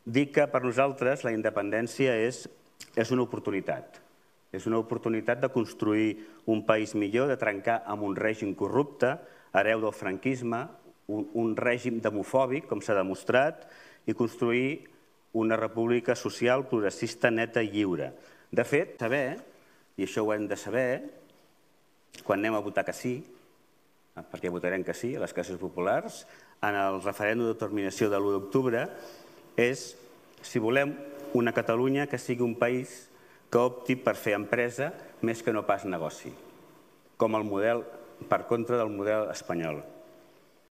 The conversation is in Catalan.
Dic que per nosaltres la independència és una oportunitat. És una oportunitat de construir un país millor, de trencar amb un règim corrupte, hereu del franquisme, un règim demofòbic, com s'ha demostrat, i construir una república social, progressista, neta i lliure. De fet, saber, i això ho hem de saber, quan anem a votar que sí, perquè votarem que sí a les classes populars, en el referèndum d'autodeterminació de l'1 d'octubre, és si volem una Catalunya que sigui un país que opti per fer empresa més que no pas negoci, com el model per contra del model espanyol.